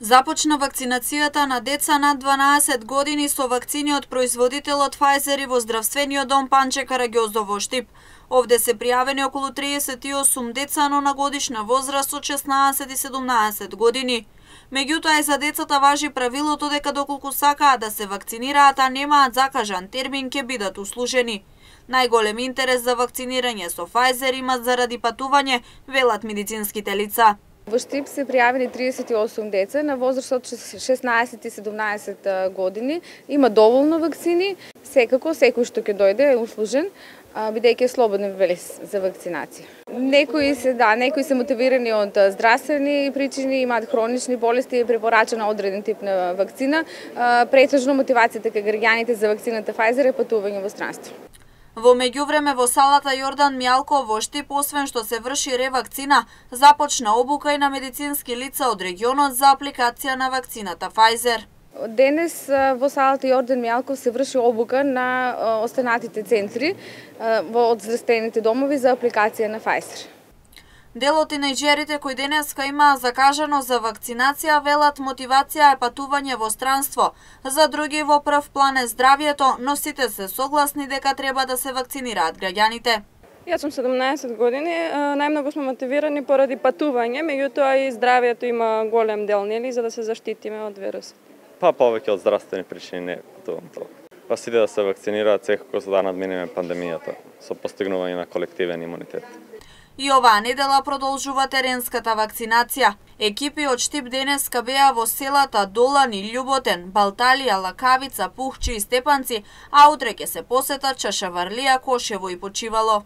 Започна вакцинацијата на деца над 12 години со вакцини од производителот Pfizer во здравствениот дом Панче Караѓоздов во Штип. Овде се пријавени околу 38 деца, но на годишна возраст од 16 и 17 години. Меѓутоа и за децата важи правилото дека доколку сакаат да се вакцинираат, а немаат закажан термин, ќе бидат услужени. Најголем интерес за вакцинирање со Pfizer имат заради патување, велат медицинските лица. Во Штип се пријавени 38 деца на возраст од 16 и 17 години. Има доволно вакцини. Секако, секој што ќе дојде е услужен, бидејќи е слободен за вакцинација. Некои се мотивирани од здравствени причини, имаат хронични болести и препорачана одреден тип на вакцина. Претежно мотивацијата кај граѓаните за вакцината Pfizer е патување во странство. Во меѓувреме во салата Јордан Мјалков во Штип, освен што се врши ревакцина, започна обука и на медицински лица од регионот за апликација на вакцината Pfizer. Денес во салата Јордан Мјалков се врши обука на останатите центри од здравствените домови за апликација на Pfizer. Дел од тинејџерите кои денеска имаа закажано за вакцинација велат мотивација е патување во странство. За други во прв план е здравјето, но сите се согласни дека треба да се вакцинираат граѓаните. Јас сум 17 години, најмногу сме мотивирани поради патување, меѓутоа и здравјето има голем дел, нели, за да се заштитиме од вирусот. Повеќе од здравствени причини не патувам толку. Сите да се вакцинираат секако за да надминеме пандемијата со постигнување на колективен имунитет. И оваа недела продолжува теренската вакцинација. Екипи од Штип денеска беа во селата Долани, Љуботен, Балталија, Лакавица, Пухчи и Степанци, а утре ќе се посетат Чашаварлија, Кошево и Почивало.